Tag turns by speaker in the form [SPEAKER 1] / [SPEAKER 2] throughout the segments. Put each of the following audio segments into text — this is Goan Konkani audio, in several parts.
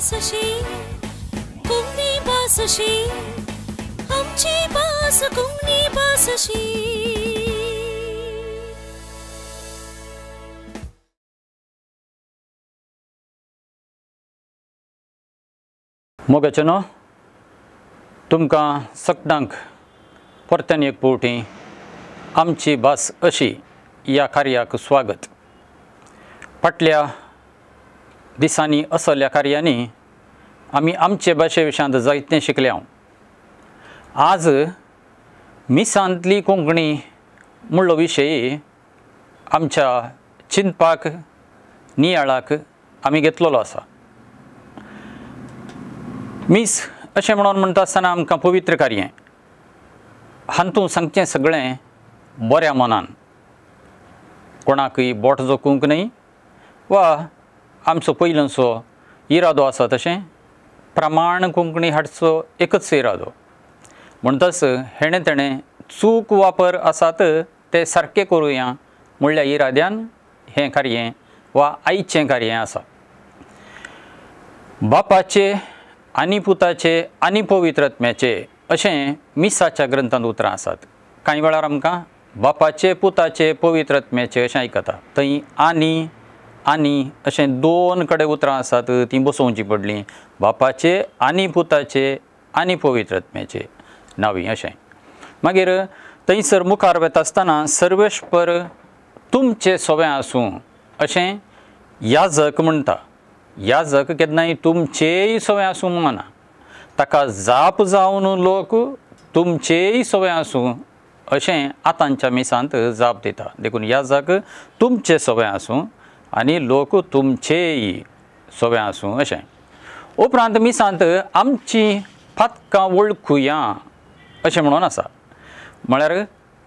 [SPEAKER 1] भास अशी, कोंकणी भास अशी, आमची भास कोंकणी भास अशी.
[SPEAKER 2] मोगाचें न्हू तुमकां सगळ्यांक परत्यान एक फावटी आमची भास अशी ह्या कार्याक स्वागत. फाटल्या दिसांनी असल्या कार्यांनी आमी आमचे भाशे विशयांत जायतें शिकल्या. आज मिसांतली कोंकणी म्हणलो विशय आमच्या चिंतपाक नियाळाक आमी घेतलेलो आसा. मीस अशें म्हणून म्हणटा आसतना आमकां पवित्र कार्य हातूंत सांगचें सगळें बऱ्या मनान, कोणाकूय बोट जोखूंक न्हय वा आमचो पयलींचो इरादो आसा तशें प्रमाण कोंकणी हाडचो एकच इरादो. म्हणटच हेणें तेणें चूक वापर आसात ते सारकें करुया म्हणल्या इराद्यान हें कार्य वा आयचें कार्य आसा. बापाचे आनी पुताचे आनी पवित्र आत्म्याचे अशें मिसाच्या ग्रंथांत उतरां आसात. कांय वेळार आमकां बापाचे पुताचे पवित्र आत्म्याचे अशें आयकता, थंय आनी आनी अशें दोन कडेन उतरां आसात तीं बसोवचीं पडलीं. बापाचे आनी पुताचे आनी पवित्र आत्म्याचे नांवी अशें. मागीर थंयसर मुखार वता आसतना सर्वेस्पर तुमचें सोवें आसूं अशें याजक म्हणटा. याजक केन्नाय तुमचेय सोवें आसूं म्हणना, ताका जाप जावन लोक तुमचेय सोवें आसूं अशें आतांच्या मिसांत जाप दिता. देखून याजक तुमचें सोवें आसूं आनी लोक तुमचेय सोवें आसूं अशें. उपरांत मिसांत आमची पातकां वळखुया अशें म्हणून आसा, म्हळ्यार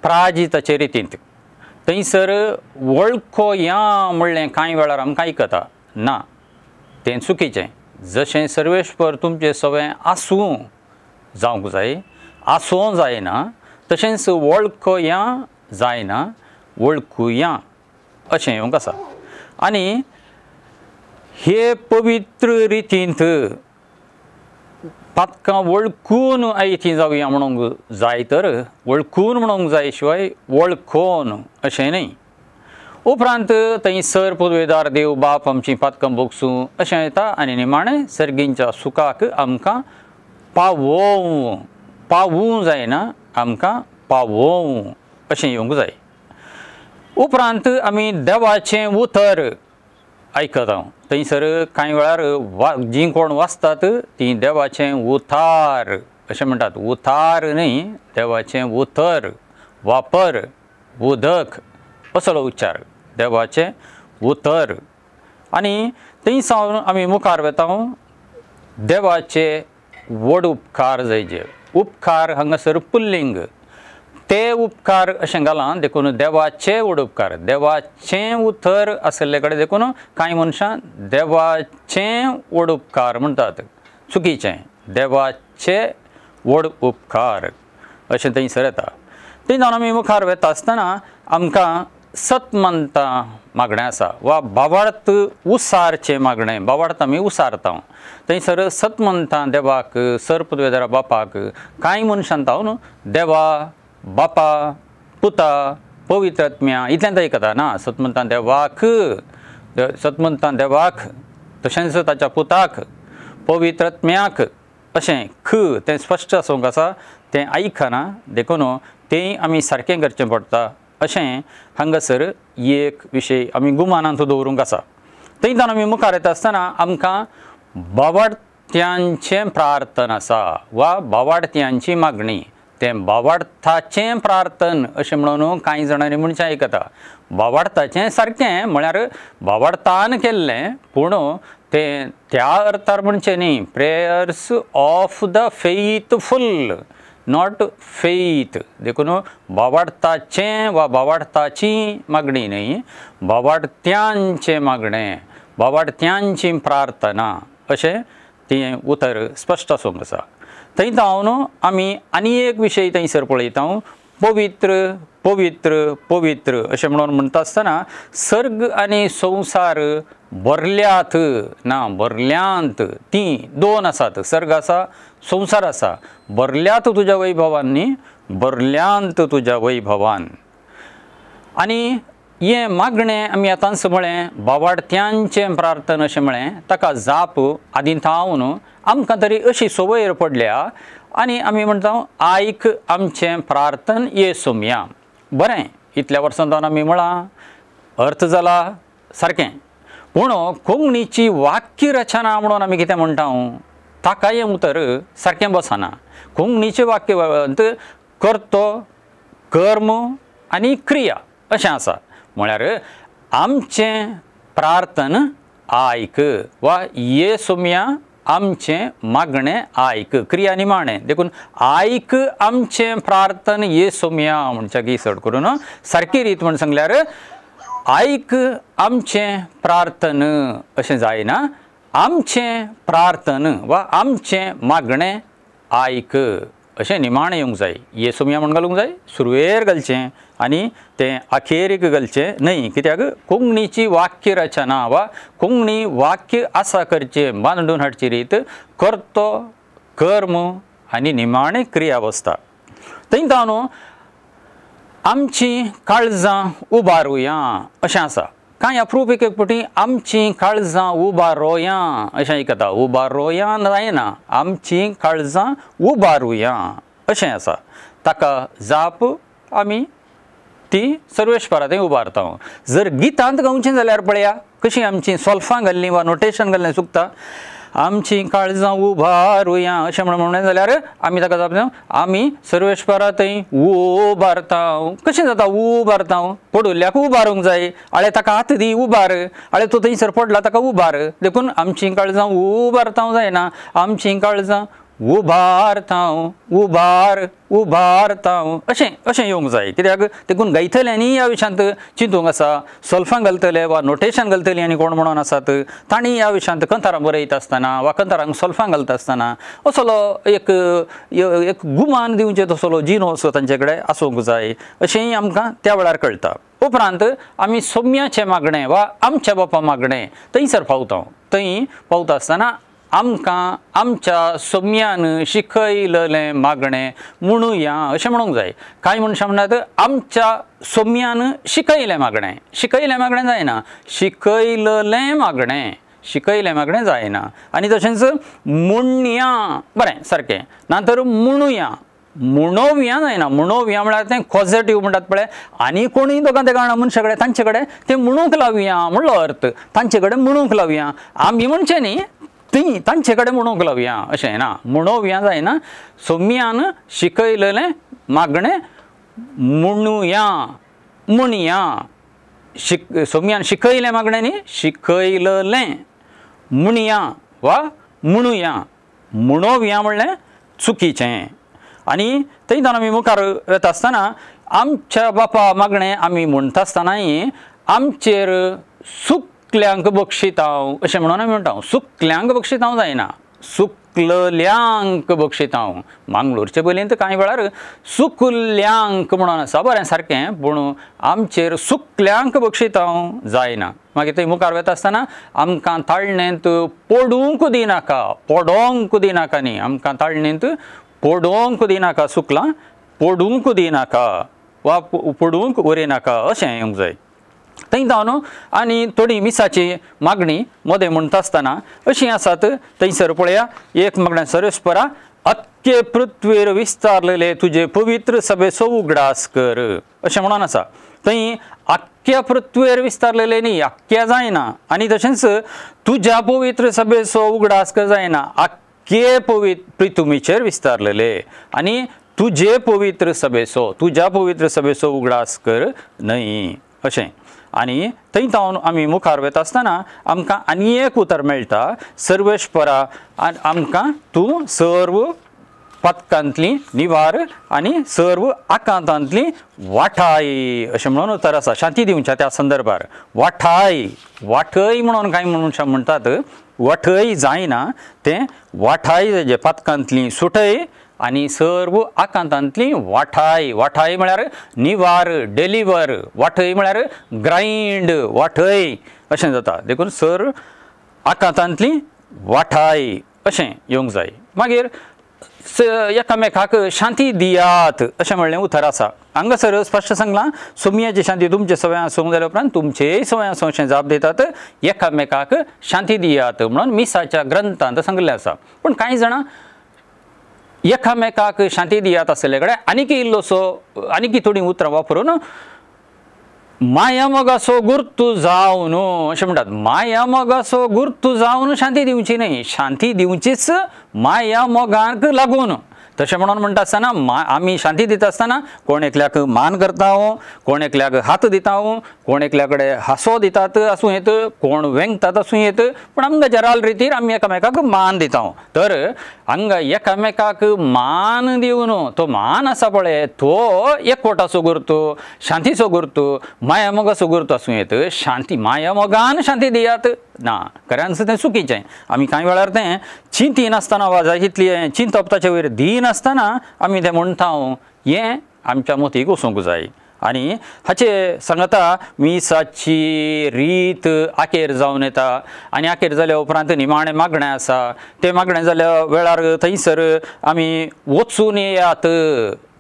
[SPEAKER 2] प्राजिताचे रितींत. थंयसर वळखोया म्हणलें कांय वेळार आमकां आयकता ना, तें चुकीचें. जशें सर्वेस्पर तुमचें सोवें आसूं जावंक जाय, आसूं जायना, तशेंच वळखोया जायना, वळखुया अशें येवंक आसा. आनी हे पवित्र रितींत पातकां वळखून आयतीं जावया म्हणूंक जाय, तर वळखून म्हणूंक जाय शिवाय वळखोन अशें न्हय. उपरांत थंय सर पुदवेदार देव बाप आमची पातकां भोगसूं अशें येता आनी निमाणें सर्गींच्या सुखाक आमकां पावोवं, पावूं जायना, आमकां पावोवं अशें येवंक जाय. उपरांत आमी देवाचें उतर आयकता. थंयसर कांय वेळार जीं कोण वाचतात तीं देवाचें उतार अशें म्हणटात. उतार न्हय, देवाचें उतर, वापर, उदक असलो उच्चार, देवाचें उतर. आनी थंय सावन आमी मुखार वता देवाचे व्हड उपकार जायचे. उपकार हांगासर पुल्लिंग, ते उपकार अशें घालां देखून देवाचे व्हड उपकार, देवाचें उतर आशिल्ले कडेन देखून कांय मनशां देवाचें व्हड उपकार म्हणटात, चुकीचें. देवाचे व्हड उपकार अशें थंयसर येता. थंय जावन आमी मुखार वता आसतना आमकां सतमंतां मागणें आसा वा भावार्थ उसारचें मागणें, भावार्थ आमी उसारता. थंयसर सतमंतां देवाक, सर पुदवेदारा बापाक कांय मनशां तावन देवा बापा पुता पवित्र आत्म्या इतल्यान आयकता ना. सतमंतां देवाक, सतमंतां देवाक तशेंच ताच्या पुताक पवित्र आत्म्याक अशें ख तें स्पश्ट आसूंक आसा, तें आयकना देखून तें आमी सारकें करचें पडटा अशें हांगासर एक विशय आमी गुमानांत दवरूंक आसा. थंय जावन आमी मुखार येता आसतना आमकां बावाडत्यांचें प्रार्थन आसा वा बावाडत्यांची मागणी. तें बावाडथाचें प्रार्थन अशें म्हणून कांय जाणांनी मनशां आयकता. बावाडताचें सारकें म्हळ्यार बावाडतान केल्लें, पूण तें त्या अर्थार म्हणचें न्ही. Prayers of the faithful, not faith. देखून बावाडताचें वा बावाडताची मागणी न्हय, बावाडत्यांचें मागणें, बावाडत्यांची प्रार्थना अशें तें उतर स्पश्ट आसूंक आसा. थंय जावन आमी आनी एक विशय थंयसर पळयता, पवित्र पवित्र पवित्र अशें म्हणून म्हणटा आसतना सर्ग आनी संवसार भरल्यात ना भरल्यांत, तीं दोन आसात, सर्ग आसा संवसार आसा, भरल्यात तुज्या वैभवान न्ही, भरल्यांत तुज्या वैभवान। आनी हें मागणें आमी आतांच म्हळें बावाडत्यांचें प्रार्थना अशें म्हळें, ताका जाप आदीं थावन आमकां तरी अशी संवय पडल्या आनी आमी म्हणटा आयक आमचें प्रार्थन ये सोमया। बरें, इतल्या वर्सां जावन आमी म्हळां अर्थ जाला सारकें, पूण कोंकणीची वाक्य रचना म्हणून आमी कितें म्हणटा ताका हें उतर सारकें बसना। कोंकणीचें वाक्य कर्तो कर्म आनी क्रिया अशें आसा, म्हळ्यार आमचें प्रार्थन आयक वा ये सोमया आमचें मागणें आयक, क्रिया निमाणें, देखून आयक आमचें प्रार्थन ये सोमया म्हणच्या की चड करून सारकी रीत म्हण सांगल्यार आयक आमचें प्रार्थन अशें जायना, आमचें प्रार्थन वा आमचें मागणें आयक अशें निमाणें येवंक जाय। ये सोमया म्हण घालूंक जाय, सुरवेर घालचें आनी तें अखेरीक घालचें न्हय, कित्याक कोंकणीची वाक्य रचना वा कोंकणी वाक्य आसा करचें बांदून हाडची रीत कर्तो कर्म आनी निमाणें क्रिया बसता। थंय जावन आमचीं काळजां उबारुया अशें आसा, कांय अप्रूप एक एक फावटी आमचीं काळजां उबारोया अशें आयकता, उबारोया जायना, आमचीं काळजां उबारुया अशें आसा, ताका जाप आमी ती सर्वेस्परा थंय उबारता। जर गितांत गावचें जाल्यार पळया कशीं आमचीं सोल्फां घाल्लीं वा नोटेशन घाल्लें चुकता, आमचीं काळजां उबारुया अशें म्हणलें जाल्यार आमी ताका जाप दिता आमी सर्वेस्परा थंय उबारता। कशें जाता उबारता? पडुल्ल्याक उबारूंक जाय, आळे ताका हात दी उबार, आळे तो थंयसर पडला ताका उबार, देखून आमचीं काळजां उबारता जायना, आमचीं काळजां उबारता उबार उबारता अशें अशें येवंक जाय, कित्याक देखून गायतल्यांनी ह्या विशयांत चिंतूंक आसा, सोल्फां घालतले वा नोटेशन घालतली आनी कोण म्हणून आसात तांणी ह्या विशयांत कंतारां बरयता आसतना वा कंतारांक सोल्फां घालता आसतना असलो एक एक गुमान दिवचें तसलो जिनोस तांचे कडेन आसूंक जाय अशेंय आमकां त्या वेळार कळटा। उपरांत आमी सोम्याचें मागणें वा आमच्या बापा मागणें थंयसर पावता, थंय पावता आसतना आमकां आमच्या सोम्यान शिकयलें मागणें म्हणुया अशें म्हणूंक जाय। कांय मनशां म्हणटात आमच्या सोम्यान शिकयलें मागणें, शिकयलें मागणें जायना, शिकयलें मागणें, शिकयलें मागणें जायना। आनी तशेंच म्हणया बरें सारकें, ना तर म्हणुया, म्हणोवया जायना, म्हणोवया म्हळ्यार तें पॉझिटीव म्हणटात पळय, आनी कोणूय दोगां तेगां मनशा कडेन तांचे कडेन तें म्हणूंक लावया म्हणलो अर्थ, तांचे कडेन म्हणूंक लावया, आमी म्हणचें न्ही ती तांचे कडेन म्हणूंक लावया अशें ना, म्हणोवया जायना, सोम्यान शिकयलें मागणें म्हणुया म्हणया, सोम्यान शिकयलें मागणें न्ही, शिकयलें म्हणया वा म्हणुया, म्हणोवया म्हणलें चुकीचें। आनी थंय जावन आमी मुखार वता आसतना आमच्या बापा मागणें आमी म्हणटा आसतनाय आमचेर सुकल्यांक बक्षितांव अशें म्हणून आमी म्हणटा, सुकल्यांक बक्षितांव जायना, सुकलल्यांक बक्षितांव। मांगलोरचे बोलयेंत कांय वेळार सुकल्यांक म्हणून आसा, बरें सारकें, पूण आमचेर सुकल्यांक बक्षितांव जायना। मागीर थंय मुखार वता आसतना आमकां ताळणेंत पडूंक दिनाका, पडोंक दिनाका न्ही, आमकां ताळणेंत पडोंक दिनाका, सुकलां पडूंक दिनाका वा पडूंक उरिनाका अशें येवंक जाय। थंय जावन आनी थोडी मिसाची मागणी मदें म्हणटा आसतना अशीं आसात, थंयसर पळया एक मागणें सर्वेस्परा अख्खे पृथ्वीर विस्तारलेले तुजे पवित्र सभेचो उगडास कर अशें म्हणून आसा। थंय आख्ख्या पृथ्वीर विस्तारलेले न्ही, आख्ख्या जायना, आनी तशेंच तुज्या पवित्र सभेचो उगडास कर जायना, आख्खे पवित्र पृथ्वीचेर विस्तारलेले आनी तुजे पवित्र सभेचो, तुज्या पवित्र सभेचो उगडास कर न्हय अशें। आनी थंय जावन आमी मुखार वता आसतना आमकां आनी एक उतर मेळटा, सर्वेस्परा आमकां तूं सर्व पथकांतली निवार आनी सर्व आकांतांतली वाठाय अशें म्हणून उतर आसा। शांती दिवच्या त्या संदर्भार वाठाय, वाठय म्हणून कांय मनशां म्हणटात, वाठय जायना, तें वाठाय जे पथकांतली सुटय आनी सर्व आकांतांतली वाठाय. वाठाय म्हळ्यार निवार, डेलिवर, वाठय म्हळ्यार ग्रायंड, वाठय अशें जाता. देखून सर आकांतांतली वाठाय अशें येवंक जाय. मागीर एकामेकाक शांती दियात अशें म्हणलें उतर आसा. हांगासर स्पश्ट सांगलां सोमयाची शांती तुमचे सवय आसूंक जाल्या उपरांत तुमचेय सवय आसूं अशें जाप दितात. एकामेकाक शांती दियात म्हणून मिसाच्या ग्रंथांत सांगिल्लें आसा. पूण कांय जाणां एकामेकाक शांती दियात आसले कडेन आनीक इल्लोसो आनीक थोडीं उतरां वापरून मायामोगाचो गुर्तू जावन अशें म्हणटात. मायामोगाचो गुर्तू जावन शांती दिवची न्हय, शांती दिवचीच मायामोगाक लागून. तशें म्हणून म्हणटा आसतना आमी शांती दिता आसतना कोण एकल्याक मान करता, कोण एकल्याक हात दिता, कोण एकल्या कडेन हांसो दितात आसूं येत, कोण वेंगतात आसूं येत, पूण आमकां जराल रितीर आमी एकामेकाक मान दिता. तर हांगा एकामेकाक मान दिवन तो मान आसा पळय तो एकवटाचो गुर्तू, शांतीचो गुर्तू, मायामोगाचो गुर्तू आसूं येत. शांती मायामोगान शांती दियात ना, खऱ्यानच तें चुकीचें. आमी कांय वेळार तें चिंतिनासतना वा जाय तितलें चिंतप ताचे वयर दिनासतना आमी तें म्हणटा, हें आमच्या मतीक वचूंक जाय. आनी हाचे सांगता मिसाची रीत आखेर जावन येता आनी आखेर जाल्या उपरांत निमाणें मागणें आसा. तें मागणें जाल्या वेळार थंयसर आमी वचून येयात,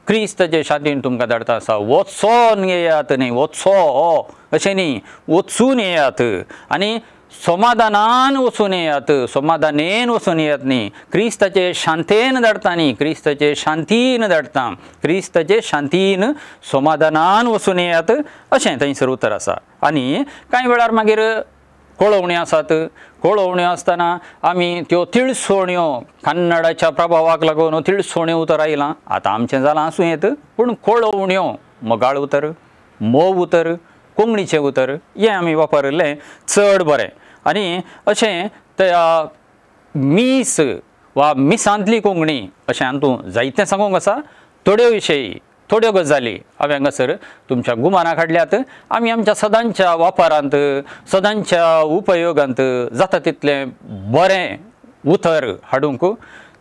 [SPEAKER 2] क्रिस्ताचे शांतीन तुमकां धाडटा आसा. वचोन येयात न्ही, वचो अशें न्ही, वचून येयात आनी समाधानान वचून येयात, समाधानेन वचून येयात न्ही, क्रिस्ताचे शांतेन धाडटा न्ही, क्रिस्ताचे शांतीन धाडटा, क्रिस्ताचे शांतीन समाधानान वचून येयात अशें थंयसर उतर आसा. आनी कांय वेळार मागीर कोळोवण्यो आसात. कोळोवण्यो आसतना आमी त्यो तिळसोण्यो कन्नडाच्या प्रभावाक लागून तिळसोण्यो उतर आयलां, आतां आमचें जालां आसूं येत, पूण कोळोवण्यो मोगाळ उतर, मोव उतर, कोंकणीचें उतर हें आमी वापरिल्लें चड बरें. आनी अशें त्या मीस वा मिसांतली कोंकणी अशें हातूंत जायतें सांगूंक आसा. थोड्यो विशयी थोड्यो गजाली हांवें हांगासर तुमच्या गुमानाक हाडल्यात. आमी आमच्या सदांच्या वापरांत सदांच्या उपयोगांत जाता तितलें बरें उतर हाडूंक,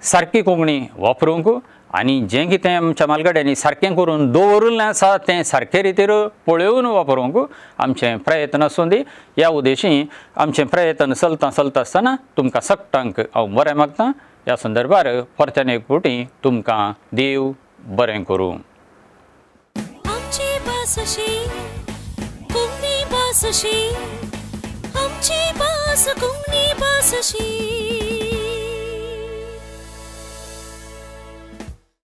[SPEAKER 2] सारकी कोंकणी वापरूंक आनी जें कितें आमच्या म्हालगड्यांनी सारकें करून दवरिल्लें आसा तें सारके रितीर पळोवन वापरूंक आमचें प्रयत्न आसूं दी. ह्या उद्देशी आमचें प्रयत्न चलता चलता आसतना तुमकां सगटांक हांव बरें मागता. ह्या संदर्भार परत्यान एक फावटी तुमकां देव बरें करूं.
[SPEAKER 1] आमची भास अशी कोंकणी भास अशी, आमची भास कोंकणी भास अशी.